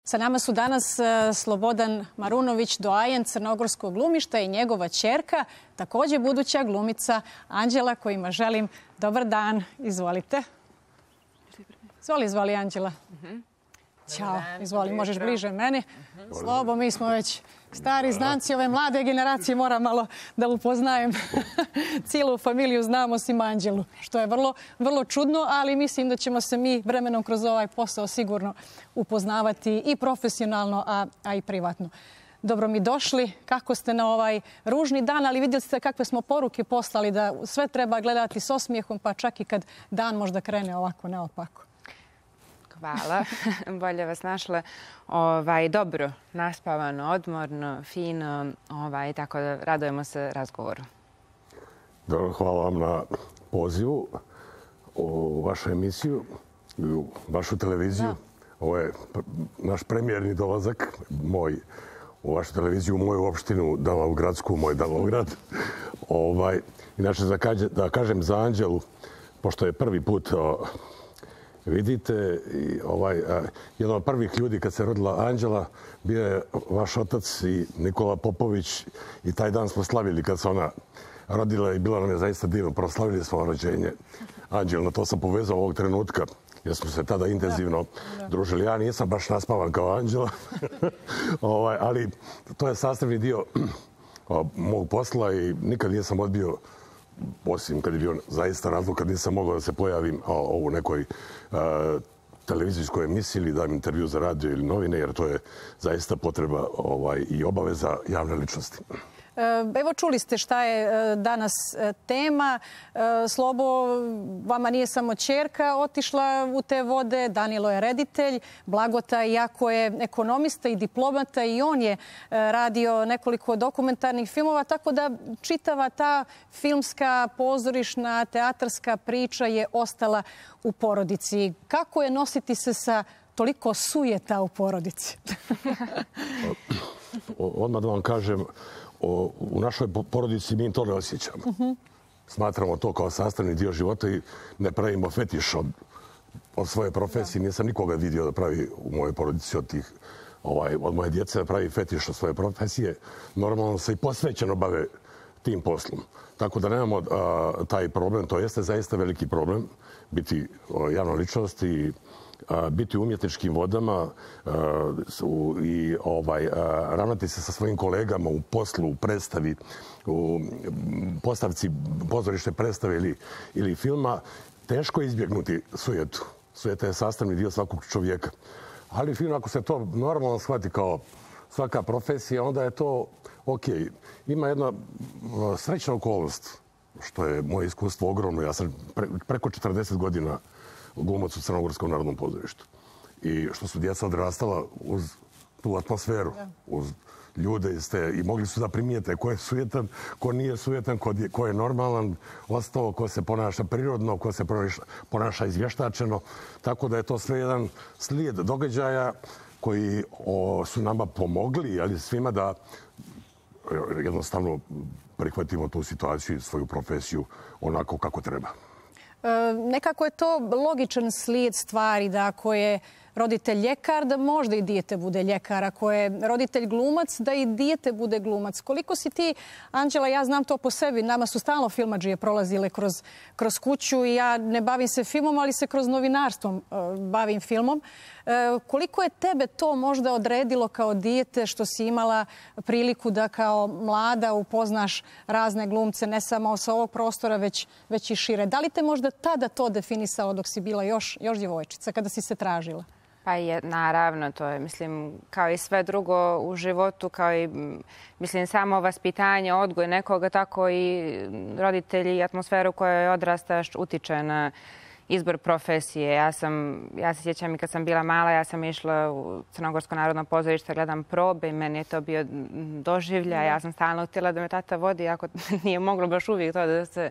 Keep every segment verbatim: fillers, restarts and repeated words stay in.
Sa nama su danas Slobodan Marunović, doajen crnogorskog glumišta i njegova ćerka, također buduća glumica Anđela, kojima želim dobar dan. Izvolite. Izvoli, izvoli Anđela. Ćao, izvoli, možeš bliže meni. Slobo, mi smo već stari znanci ove mlade generacije, moram malo da upoznajem. Cijelu familiju znamo osim Anđelu, što je vrlo, vrlo čudno, ali mislim da ćemo se mi vremenom kroz ovaj posao sigurno upoznavati i profesionalno, a, a i privatno. Dobro mi došli, kako ste na ovaj ružni dan, ali vidjeli ste kakve smo poruke poslali da sve treba gledati s osmijehom, pa čak i kad dan možda krene ovako naopako. Hvala. Bolje vas našla. Ovaj, dobro, naspavano, odmorno, fino, ovaj, tako da radujemo se razgovoru. Dobro, hvala vam na pozivu u vašu emisiju, u vašu televiziju. Da. Ovo je naš premijerni dolazak, moj, u vašu televiziju, u moju opštinu Davovgradsku, moj Davograd. Ovaj, inače, da kažem za Anđelu, pošto je prvi put vidite, i ovaj, jedan od prvih ljudi kad se rodila Anđela bio je vaš otac i Nikola Popović i taj dan smo slavili kad se ona rodila i bilo nam je zaista divno. Proslavili smo rođenje Anđelno. To sam povezao ovog trenutka jer smo se tada intenzivno da, da. družili. Ja nisam baš naspavan kao Anđela, ovaj, ali to je sastavni dio mog posla i nikad nisam odbio, osim kad je bio zaista razlog kad nisam mogao da se pojavim u nekoj uh, televizijskoj emisiji ili dam intervju za radio ili novine, jer to je zaista potreba ovaj, i obaveza javne ličnosti. Evo, čuli ste šta je danas tema. Slobo, vama nije samo ćerka otišla u te vode, Danilo je reditelj, Blagota, iako je ekonomista i diplomata, i on je radio nekoliko dokumentarnih filmova, tako da čitava ta filmska, pozorišna, teatarska priča je ostala u porodici. Kako je nositi se sa toliko sujeta u porodici? Odmah da vam kažem, u našoj porodici mi to ne osjećamo. Smatramo to kao sastavni dio života i ne pravimo fetiš od, od svoje profesije. Nisam nikoga vidio da pravi u mojoj porodici od, tih, ovaj, od moje djece da pravi fetiš od svoje profesije. Normalno se i posvećeno bave tim poslom. Tako da nemamo a, taj problem. To jeste zaista veliki problem biti o, javna ličnost i biti u umjetničkim vodama i ovaj, ravnati se sa svojim kolegama u poslu, u predstavi, u postavci pozorišne predstave ili, ili filma, teško izbjegnuti sujetu. Sujeta je sastavni dio svakog čovjeka. Ali film, ako se to normalno shvati kao svaka profesija, onda je to ok. Ima jedna srećna okolnost, što je moje iskustvo ogromno. Ja sam pre, preko četrdeset godina glumac u Crnogorskom narodnom pozorištu. I što su djeca odrastala uz tu atmosferu, uz ljude iz te, i mogli su da primijete ko je sujetan, ko nije sujetan, ko je, ko je normalan, ostao, ko se ponaša prirodno, ko se ponaša izvještačeno. Tako da je to sve jedan slijed događaja koji o, su nama pomogli, ali svima da jednostavno prihvatimo tu situaciju i svoju profesiju onako kako treba. Nekako je to logičan slijed stvari da ako je roditelj ljekar, da možda i dijete bude ljekar. Ako je roditelj glumac, da i dijete bude glumac. Koliko si ti, Anđela, ja znam to po sebi, nama su stalno filmadžije prolazile kroz, kroz kuću i ja ne bavim se filmom, ali se kroz novinarstvom uh, bavim filmom. Uh, koliko je tebe to možda odredilo kao dijete što si imala priliku da kao mlada upoznaš razne glumce, ne samo sa ovog prostora, već, već i šire? Da li te možda tada to definisalo dok si bila još, još djevojčica, kada si se tražila? Pa je, naravno, to je, mislim, kao i sve drugo u životu, kao i, mislim, samo vaspitanje, odgoj nekoga, tako i roditelji i atmosferu kojoj odrastaš utiče na izbor profesije. Ja sam, ja se sjećam i kad sam bila mala, ja sam išla u Crnogorsko narodno pozorište, gledam probe i meni je to bio doživljaj. Ja sam stalno htjela da me tata vodi, ako nije moglo baš uvijek to da se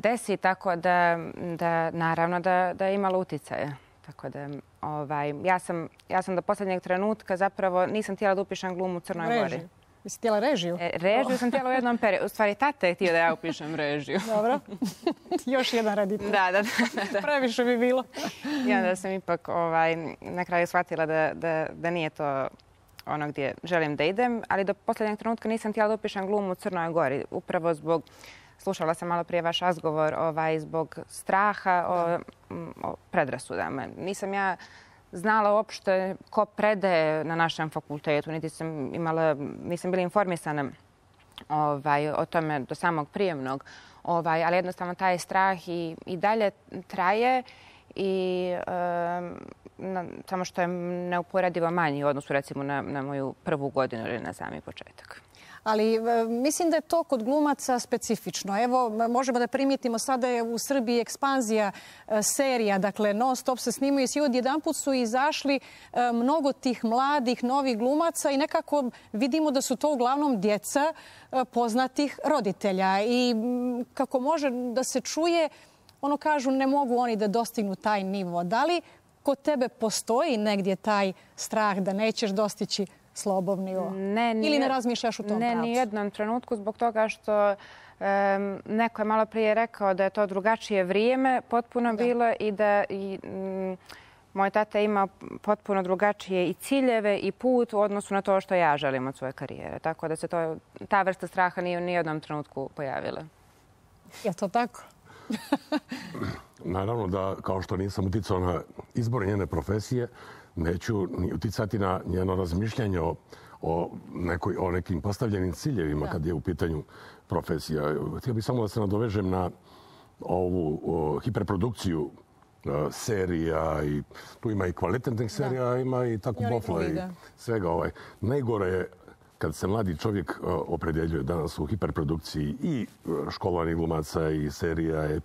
desi, tako da, da naravno, da, da je imalo uticaja. Tako da, ovaj, ja sam, ja sam do posljednjeg trenutka zapravo nisam htjela da upišem glumu u Crnoj Gori. Jesi htjela režiju? E, režiju sam htjela u jednom periodu. U stvari, tata je htio da ja upišem režiju. Dobro. Još jedan reditelj. Da, da, da. Previše bi bilo. I onda sam ipak ovaj, na kraju shvatila da, da, da nije to ono gdje želim da idem, ali do posljednjeg trenutka nisam htjela da upišem glumu u Crnoj Gori. Upravo zbog, slušala sam malo prije vaš razgovor, ovaj, zbog straha o, o predrasudama. Nisam ja znala uopšte ko predaje na našem fakultetu, niti sam imala, nisam bila informisana ovaj, o tome do samog prijemnog, ovaj, ali jednostavno taj strah i, i dalje traje i um, na, samo što je neuporedivo manji u odnosu recimo na, na moju prvu godinu ili na sami početak. Ali mislim da je to kod glumaca specifično. Evo, možemo da primijetimo sada je u Srbiji ekspanzija serija, dakle non stop se snimaju i odjedanput su izašli mnogo tih mladih, novih glumaca i nekako vidimo da su to uglavnom djeca poznatih roditelja. I kako može da se čuje, ono kažu ne mogu oni da dostignu taj nivo. Da li kod tebe postoji negdje taj strah da nećeš dostići slobodni nivo? Ne, ili ne razmišljaš u tom ne, pravcu? Ne, ni jednom trenutku zbog toga što um, neko je malo prije rekao da je to drugačije vrijeme potpuno da. bilo i da i, um, moj tata ima potpuno drugačije i ciljeve i put u odnosu na to što ja želim od svoje karijere. Tako da se to, ta vrsta straha nije u nijednom trenutku pojavila. Je to tako? Naravno da, kao što nisam uticao na izbor njene profesije, neću ni uticati na njeno razmišljanje o, o, nekoj, o nekim postavljenim ciljevima da. kad je u pitanju profesija. Htio bih samo da se nadovežem na ovu o, hiperprodukciju o, serija i tu ima i kvalitetnih serija, da. ima i tako bofla i svega. Ovaj. Najgore je kad se mladi čovjek o, opredjeljuje danas u hiperprodukciji i školovanih glumaca i serija je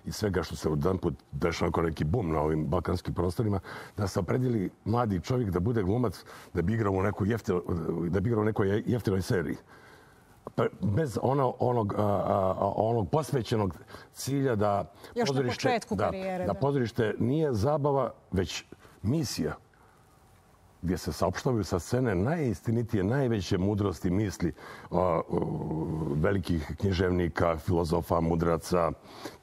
i svega što se jedan put dešava kao neki bum na ovim balkanskim prostorima, da se opredijeli mladi čovjek da bude glumac, da bi igrao u nekoj, jeftino, da bi igrao u nekoj jeftinoj seriji. Bez ono, onog, a, a, onog posvećenog cilja da pozorište, da, karijere, da pozorište nije zabava, već misija, gdje se saopštavaju sa scene najistinitije, najveće mudrosti misli o, o, velikih književnika, filozofa, mudraca,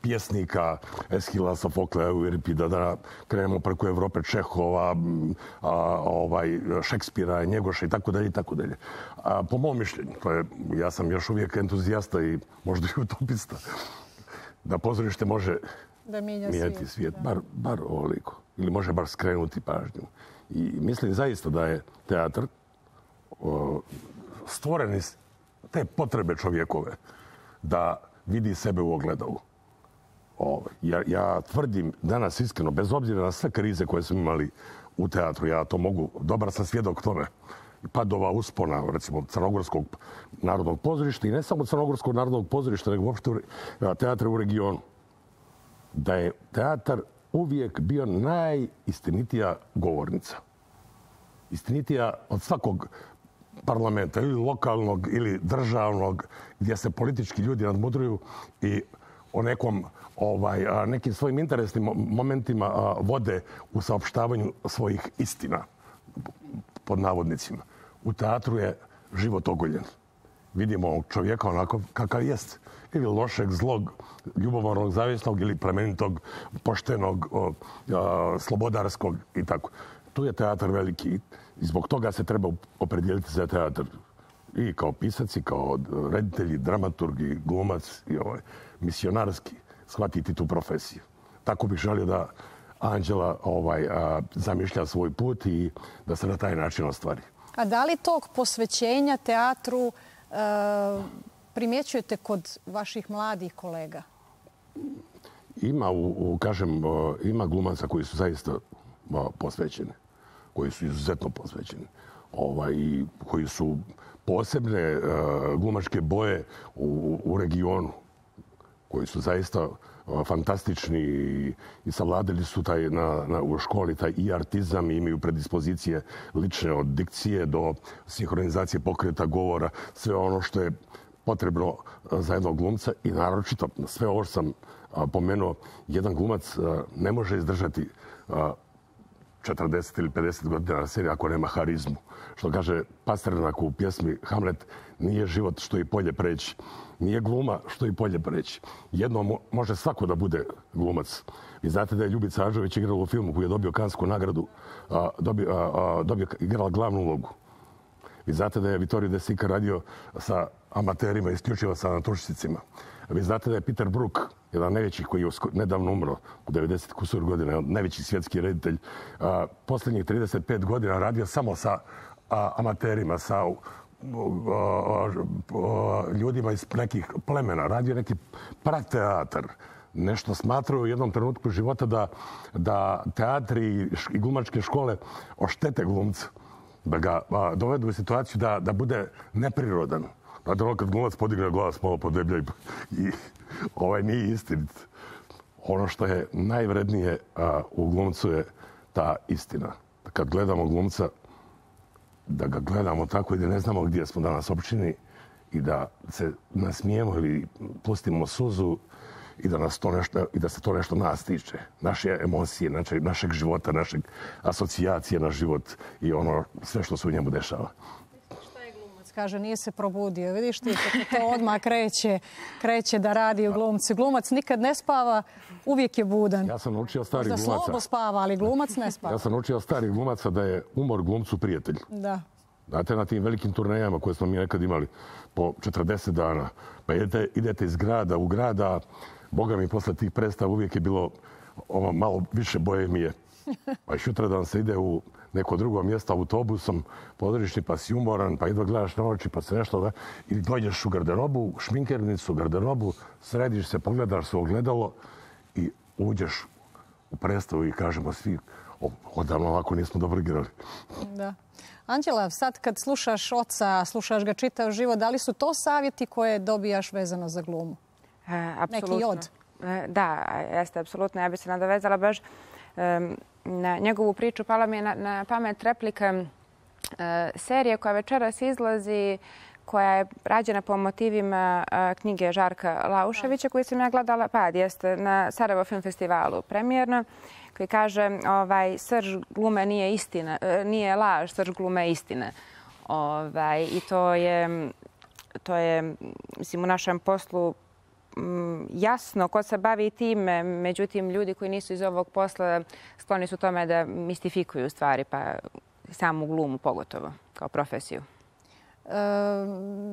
pjesnika, Eshila, Sofokleja, Euripida, da krenemo preko Evrope, Čehova, a, ovaj, Šekspira, Njegoša i tako dalje i tako dalje. A, po mom mišljenju, to je, ja sam još uvijek entuzijasta i možda i utopista, da pozorište može da mijenjati svijet, svijet bar, bar ovoliko. Ili može bar skrenuti pažnju. I mislim zaista da je teatr o, stvoren iz te potrebe čovjekove da vidi sebe u ogledalu. O, ja, ja tvrdim danas iskreno, bez obzira na sve krize koje smo imali u teatru, ja to mogu, dobar sam svjedok tome, padova, uspona, recimo Crnogorskog narodnog pozorišta i ne samo Crnogorskog narodnog pozorišta, nego uopšte teatra u regionu. Da je teatar uvijek bio najistinitija govornica. Istinitija od svakog parlamenta, ili lokalnog, ili državnog, gdje se politički ljudi nadmudruju i o nekom, ovaj, nekim svojim interesnim momentima vode u saopštavanju svojih istina, pod navodnicima. U teatru je život ogoljen. Vidimo ovog čovjeka onako kakav jest. Ili lošeg, zlog, ljubomornog, zavisnog ili plemenitog, poštenog, o, a, slobodarskog i tako. Tu je teatar veliki i zbog toga se treba opredijeliti za teatar. I kao pisac, i kao reditelj, dramaturg, i glumac, i ovaj, misionarski shvatiti tu profesiju. Tako bih želio da Anđela ovaj, a, zamišlja svoj put i da se na taj način ostvari. A da li tog posvećenja teatru e, primjećujete kod vaših mladih kolega? Ima, u, u, kažem, ima glumaca koji su zaista posvećeni, koji su izuzetno posvećeni, ovaj, koji su posebne uh, glumačke boje u, u regionu, koji su zaista uh, fantastični i, i savladali su taj, na, na, u školi taj i artizam i imaju predispozicije lične od dikcije do sinhronizacije pokreta govora, sve ono što je potrebno za jednog glumca i naročito sve ovo što sam a, pomenuo, jedan glumac a, ne može izdržati a, četrdeset ili pedeset godina na sceni ako nema harizmu. Što kaže Pasternak u pjesmi Hamlet, nije život što i polje preći. Nije gluma što i polje preći. Jedno mo može svako da bude glumac. Vi znate da je Ljubica Ažović igrala u filmu koji je dobio Kansku nagradu, a, dobio, a, a, dobio, igrala glavnu ulogu. Vi znate da je Vittorio De Sica radio sa amaterima, isključivo sa naturšticima. Vi znate da je Peter Brook, jedan najveći koji je nedavno umro, u devedeset kusur godina, najveći svjetski reditelj, a, posljednjih trideset pet godina radio samo sa a, amaterima, sa a, a, a, ljudima iz nekih plemena. Radio neki prateatar. Nešto smatraju u jednom trenutku života da, da teatri i glumačke škole oštete glumca. Da ga a, dovedu u situaciju da, da bude neprirodan. Znate, ono kad glumac podigne glas, malo podeblja i, i ovaj nije istinit. Ono što je najvrednije a, u glumcu je ta istina. Kad gledamo glumca, da ga gledamo tako i da ne znamo gdje smo danas općini i da se nasmijemo ili pustimo suzu i da, nas to nešto, i da se to nešto nas tiče. Naše emocije, naše, našeg života, našeg asocijacije na život i ono sve što se u njemu dešava. Kaže, nije se probudio. Vidiš ti kako to odmah kreće, kreće da radi u glumci. Glumac nikad ne spava, uvijek je budan. Ja sam naučio starih glumaca. Da slobo spava, ali glumac ne spava. Ja sam naučio starih glumaca da je umor glumcu prijatelj. Da. Znate, na tim velikim turnejama koje smo mi nekad imali po četrdeset dana, pa idete, idete iz grada u grada, Boga mi posle tih predstava uvijek je bilo ovo, malo više bohemije. Pa i sutra dan se ide u neko drugo mjesto autobusom, podrišni, pa si umoran, pa jedva gledaš na oči, pa se nešto da... I dođeš u garderobu, šminkernicu, garderobu, središ se, pogledaš se u ogledalo i uđeš u predstavu i kažemo svi, odavno ovako nismo dobro igrali. Da. Anđela, sad kad slušaš oca, slušaš ga čitav život, da li su to savjeti koje dobijaš vezano za glumu? E, apsolutno. Neki od? E, da, jeste, apsolutno. Ja bih se nadovezala baš e, na njegovu priču. Pala mi je na, na pamet replika e, serije koja večeras izlazi, koja je rađena po motivima e, knjige Žarka Lauševića, koju sam ja gledala, pa jeste, na Sarajevo Film Festivalu premijerno, koji kaže ovaj, srž glume nije istina, e, nije laž, srž glume je istina. Ovaj, I to je, to je, mislim, u našem poslu jasno ko se bavi time, međutim ljudi koji nisu iz ovog posla skloni su tome da mistifikuju stvari, pa samu glumu pogotovo kao profesiju. E,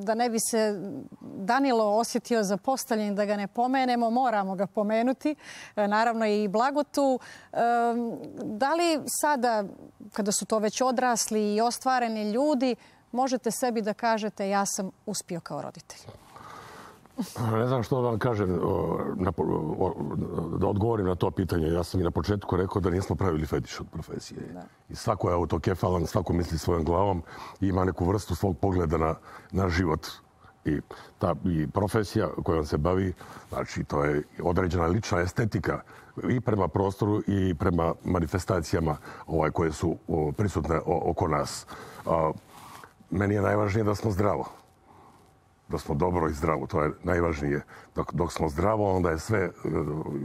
da ne bi se Danilo osjetio zapostavljen, da ga ne pomenemo, moramo ga pomenuti. E, naravno i Blagotu. E, da li sada, kada su to već odrasli i ostvareni ljudi, možete sebi da kažete ja sam uspio kao roditelj? Ne znam što vam kažem, da odgovorim na to pitanje. Ja sam i na početku rekao da nismo pravili fetiš od profesije. Da. I svako je autokefalan, svako misli svojom glavom i ima neku vrstu svog pogleda na, na život. I ta i profesija kojom se bavi, znači to je određena lična estetika i prema prostoru i prema manifestacijama ovaj, koje su o, prisutne o, oko nas. A, meni je najvažnije da smo zdravo. Da smo dobro i zdravo, to je najvažnije. Dok, dok smo zdravo, onda je sve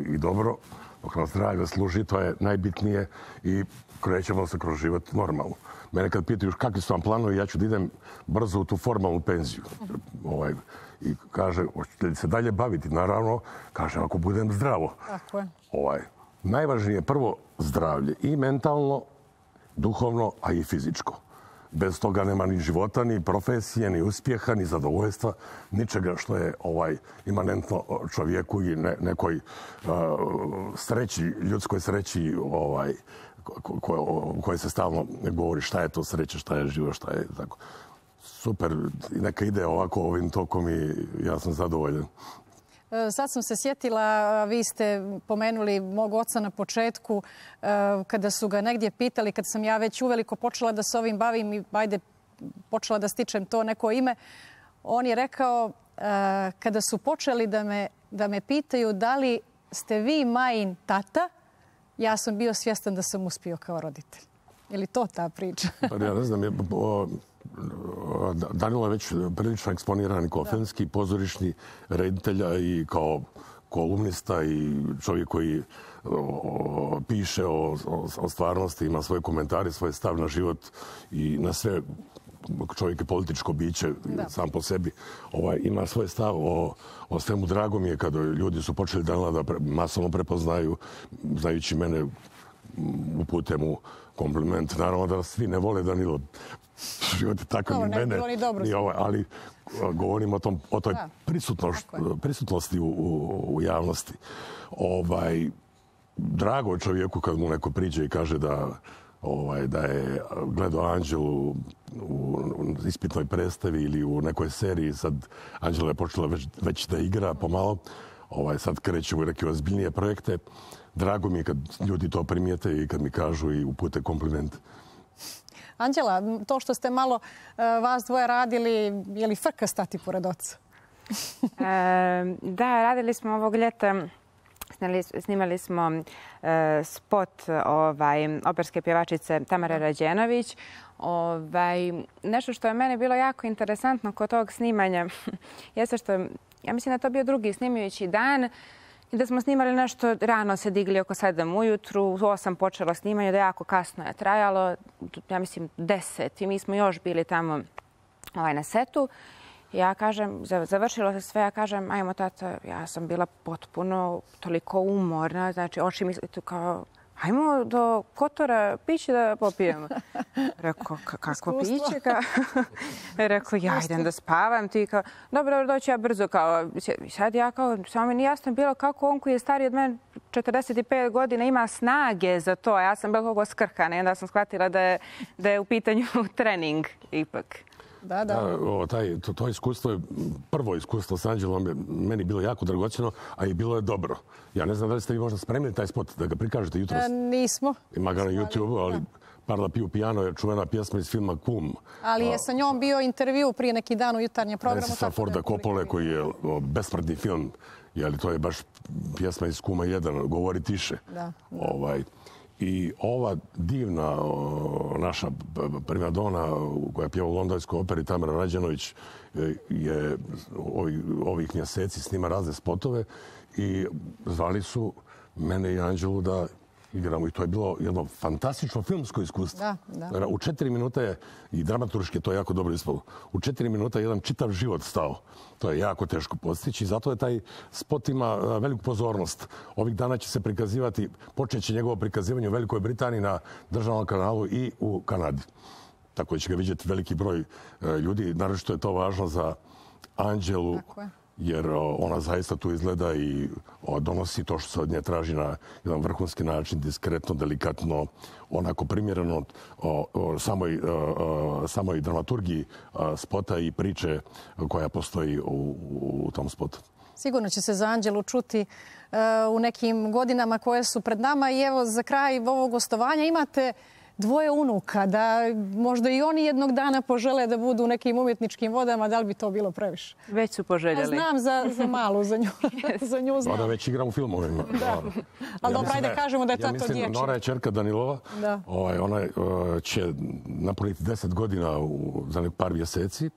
i dobro. Dok nam zdravlje služi, to je najbitnije i krećemo se kroz život normalno. Mene kad pitaju kakvi su vam planovi, ja ću da idem brzo u tu formalnu penziju. Ovaj, I kaže, hoćete li se dalje baviti? Naravno, kaže, ako budem zdravo. Tako je. Ovaj, najvažnije je prvo zdravlje. I mentalno, duhovno, a i fizičko. Bez toga nema ni života, ni profesije, ni uspjeha, ni zadovoljstva, ničega što je ovaj imanentno čovjeku i ne, nekoj uh, sreći, ljudskoj sreći ovaj, ko, ko, koje se stalno govori šta je to sreća, šta je život, šta je tako. Super, neka ide ovako ovim tokom i ja sam zadovoljan. Sad sam se sjetila, vi ste pomenuli mog oca na početku, kada su ga negdje pitali, kad sam ja već uveliko počela da se ovim bavim i ajde, počela da stičem to neko ime, on je rekao, kada su počeli da me, da me pitaju da li ste vi majin tata, ja sam bio svjestan da sam uspio kao roditelj. Je li to ta priča? Pa ja ne znam, je, o, Danilo je već prilično eksponiran kao filmski, pozorišni reditelj i kao kolumnista i čovjek koji o, piše o, o, o stvarnosti, ima svoje komentare, svoj stav na život i na sve. Čovjek je političko biće da. sam po sebi. Ovaj, ima svoj stav o, o svemu. Drago mi je kada ljudi su počeli Danila da pre, masovno prepoznaju, znajući mene, upute mu kompliment. Naravno da svi ne vole Danilo. Život je takav no, i mene. I ovaj, ali govorim o, tom, o toj prisutnosti u, u, u javnosti. Ovaj, drago čovjeku kad mu neko priđe i kaže da Ovaj, da je gledao Anđelu u ispitnoj predstavi ili u nekoj seriji. Sad Anđela je počela već, već da igra pomalo. Ovaj, sad krećemo u neke ozbiljnije projekte. Drago mi je kad ljudi to primijete i kad mi kažu i upute kompliment. Anđela, to što ste malo vas dvoje radili, je li frka stati pored oca? e, da, radili smo ovog ljeta. Snimali smo uh, spot ovaj, operske pjevačice Tamare Rađenović. Ovaj, nešto što je meni bilo jako interesantno kod tog snimanja jeste što, ja mislim da to bio drugi snimajući dan i da smo snimali nešto, rano se digli oko sedam ujutru, u osam počelo snimanje, da jako kasno je trajalo, ja mislim deset i mi smo još bili tamo ovaj, na setu. Ja kažem, završilo se sve, ja kažem, ajmo tata, ja sam bila potpuno toliko umorna, znači oči mi tu kao, ajmo do Kotora piće da popijemo. Rekao, kako piće? Rekao, ja idem da spavam, ti kao, dobro, doći ja brzo, kao, sad ja kao, samo mi nije jasno bilo kako on koji je stariji od mene četrdeset pet godina ima snage za to, ja sam bila kogo skrhana i onda sam shvatila da je, da je u pitanju trening ipak. Da, da. da o, taj, to, to iskustvo je, prvo iskustvo s Anđelom je meni bilo jako dragocjeno, a i bilo je dobro. Ja ne znam da li ste vi možda spremili taj spot, da ga prikažete jutros. E, nismo. Ima ga na YouTube-u, ali Parla piu piano je čuvena pjesma iz filma Kum. Ali je sa njom bio intervju prije neki dan u jutarnjem programu. Francisa Forda Coppole, koji je besmrtni film, jeli, to je baš pjesma iz Kuma jedan, Govori tiše. Da, da. Ovaj, I ova divna o, naša primadona koja pjeva u Londonskoj operi, Tamara Rađenović, je ovih, ovih mjeseci snima razne spotove i zvali su mene i Anđelu da igramo. I to je bilo jedno fantastično filmsko iskustvo. Da, da. U četiri minuta je, i dramaturški to je jako dobro ispalo, u četiri minuta je jedan čitav život stao. To je jako teško postići i zato je taj spot ima veliku pozornost. Ovih dana će se prikazivati, počeće njegovo prikazivanje u Velikoj Britaniji na državnom kanalu i u Kanadi. Tako da će ga vidjeti veliki broj ljudi. Naravno je to važno za Anđelu. Tako je. Jer ona zaista tu izgleda i donosi to što se od nje traži na jedan vrhunski način, diskretno, delikatno, onako primjereno o, o, samoj, o, samoj dramaturgiji spota i priče koja postoji u, u tom spotu. Sigurno će se za Anđelu čuti uh, u nekim godinama koje su pred nama. I evo, za kraj ovog gostovanja imate dvoje unuka, da možda i oni jednog dana požele da budu u nekim umjetničkim vodama, da li bi to bilo previše? Već su poželjeli. Ja znam za, za malu, za nju, za nju znam. Ona već igra u filmovima. Da. Ali ja dobro, ajde da kažemo da je ja to mislim, dječje. Nora je čerka Danilova. Da. Ovaj, ona uh, će napuniti deset godina u, za par mjeseci.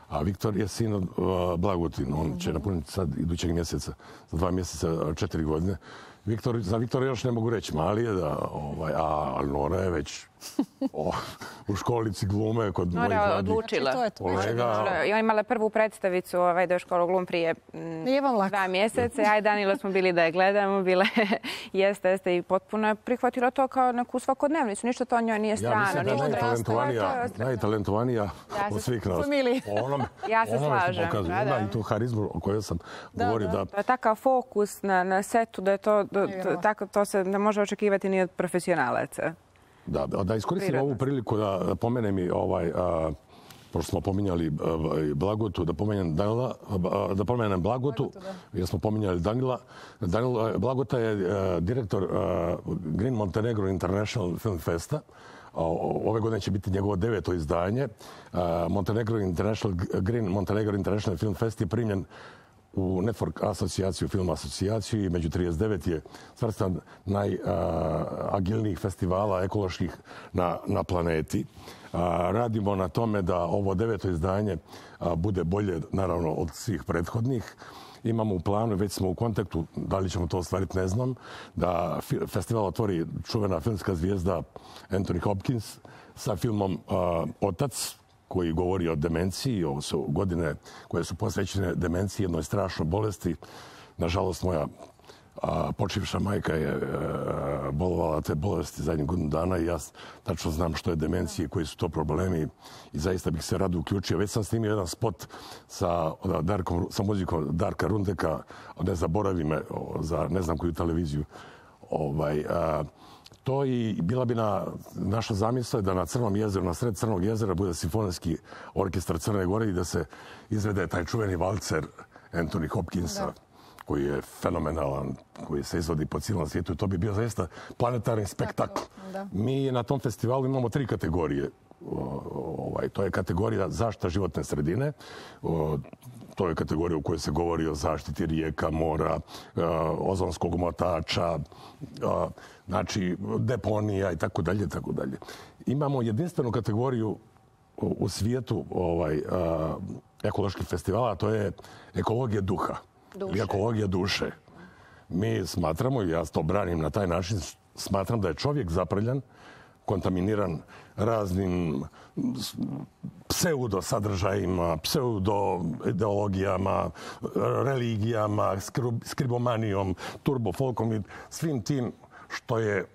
A Viktor je sin od uh, Blagotin. On će napuniti sad idućeg mjeseca, za dva mjeseca, četiri godine. Viktor, za Viktora još ne mogu reći, mali je da, ovaj, a Nora je već o, u školici glume kod mojih Nora odlučila. To je to. Kolega. Ja imala prvu predstavicu ovaj, do školu glum prije m, dva mjeseca. Aj Danilo smo bili da je gledamo, bile jeste, jeste i potpuno je prihvatila to kao neku svakodnevnicu. Ništa to njoj nije strano. Ja mislim da je najtalentovanija, najtalentovanija ja od svih nas. Onome, ja se slažem. Da, da. I tu harizmu o kojoj sam da, govorio. Da. Da. To je takav fokus na, na setu da je to, da, to, tako, to se ne može očekivati ni od profesionalaca. Da, da iskoristim Prirodno. ovu priliku da pomenem i ovaj, a, pošto smo pominjali a, Blagotu, da pomenem Danila, a, da pomenem Blagotu, Blagotu jer smo pominjali Danila. Danil, Blagota je a, direktor a, Green Montenegro International Film Festa. Ove godine će biti njegovo deveto izdanje. A, Montenegro International, Green Montenegro International Film Fest je primljen u Network asocijaciju, film asocijaciju i među trideset devet je svrstan najagilnijih festivala ekoloških na, na planeti. A, radimo na tome da ovo deveto izdanje a, bude bolje, naravno, od svih prethodnih imamo u planu, već smo u kontaktu, da li ćemo to ostvariti, ne znam, da festival otvori čuvena filmska zvijezda Anthony Hopkins sa filmom Otac, koji govori o demenciji. Ovo su godine koje su posvećene demenciji, jednoj strašnoj bolesti. Nažalost, moja počivša majka je bolovala te bolesti zadnjih godinu dana i ja tačno znam što je demencija i koji su to problemi i zaista bih se rado uključio. Već sam snimio jedan spot sa, Darkom, sa muzikom Darka Rundeka, ne zaboravi me, za ne znam koju televiziju. Ovaj, a, to i bila bi na, naša zamisla da na Crnom jezeru, na sred Crnog jezera bude simfonijski orkestar Crne Gore i da se izvede taj čuveni valcer Anthony Hopkinsa. Da. Koji je fenomenalan, koji se izvodi po cijelom svijetu i to bi bio zaista planetarni spektakl. Mi na tom festivalu imamo tri kategorije. Ovaj, to je kategorija zaštita životne sredine, o, to je kategorija u kojoj se govori o zaštiti rijeka, mora, o, ozonskog omotača, o, znači deponija i tako dalje, tako dalje. Imamo jedinstvenu kategoriju u, u svijetu ovaj, a, ekoloških festivala, a to je ekologija duha. Duše. I ekologija duše. Mi smatramo, i ja to branim na taj način, smatram da je čovjek zaprljan, kontaminiran raznim pseudo sadržajima, pseudo ideologijama, religijama, skribomanijom, turbofolkom i svim tim što je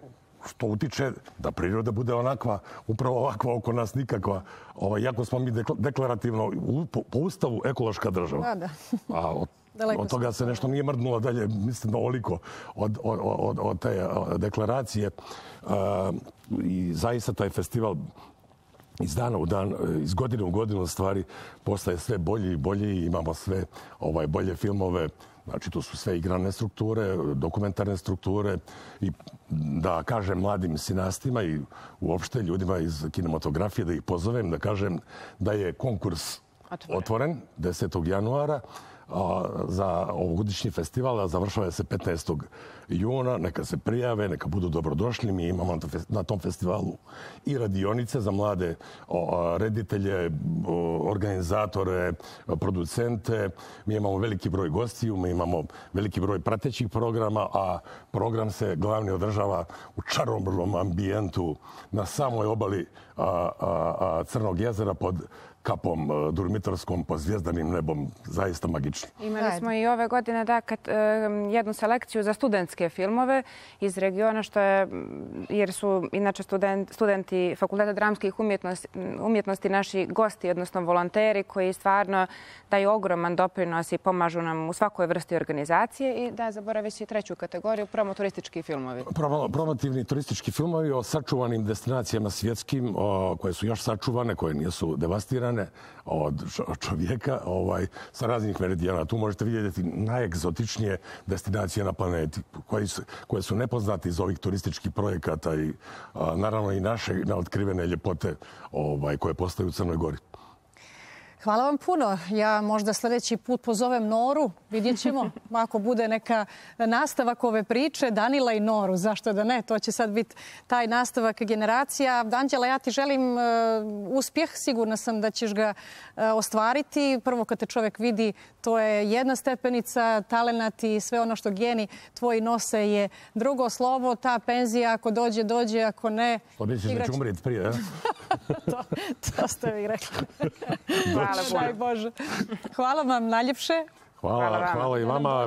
što utiče da priroda bude onakva, upravo ovakva oko nas nikakva. Ovaj, jako smo mi deklarativno po, po ustavu ekološka država. Da, da. A od, od toga se nešto nije mrdnulo dalje, mislim, ovoliko od, od, od, od te deklaracije. Uh, I zaista taj festival iz dana u dan, iz godine u godinu stvari postaje sve bolji i bolji. Imamo sve ovaj, bolje filmove. Znači, to su sve igrane strukture, dokumentarne strukture i da kažem mladim sinastima i uopšte ljudima iz kinematografije da ih pozovem, da kažem da je konkurs otvoren, otvoren desetog januara za ovogodišnji festival, a završava se petnaestog juna. Neka se prijave, neka budu dobrodošli. Mi imamo na tom festivalu i radionice za mlade reditelje, organizatore, producente. Mi imamo veliki broj gostiju, mi imamo veliki broj pratećih programa, a program se glavni održava u čarobnom ambijentu na samoj obali a, a, a, Crnog jezera pod kapom durmitorskom pod zvijezdanim nebom, zaista magično. Imali smo i ove godine da, kad, jednu selekciju za studentske filmove iz regiona, što je, jer su inače student, studenti Fakulteta dramskih umjetnosti, umjetnosti naši gosti, odnosno volonteri koji stvarno daju ogroman doprinos i pomažu nam u svakoj vrsti organizacije. I da, zaboravi si treću kategoriju, promoturistički filmovi. Promo, promotivni turistički filmovi o sačuvanim destinacijama svjetskim, o, koje su još sačuvane, koje nisu devastirane od čovjeka ovaj, sa raznih meridijana. Tu možete vidjeti najegzotičnije destinacije na planeti koje su, koje su nepoznate iz ovih turističkih projekata i a, naravno i naše neotkrivene ljepote ovaj, koje postoje u Crnoj Gori. Hvala vam puno. Ja možda sljedeći put pozovem Noru. Vidjet ćemo ako bude neka nastavak ove priče. Danila i Noru, zašto da ne? To će sad biti taj nastavak generacija. Anđela, ja ti želim uh, uspjeh. Sigurna sam da ćeš ga uh, ostvariti. Prvo kad te čovjek vidi, to je jedna stepenica, talenat i sve ono što geni tvoji nose je drugo slovo. Ta penzija, ako dođe, dođe, ako ne... To misliš da će umriti prije, ja? to, to ste vi rekli. Hvala, Bože. Hvala vam najljepše. Hvala, hvala, hvala i vama.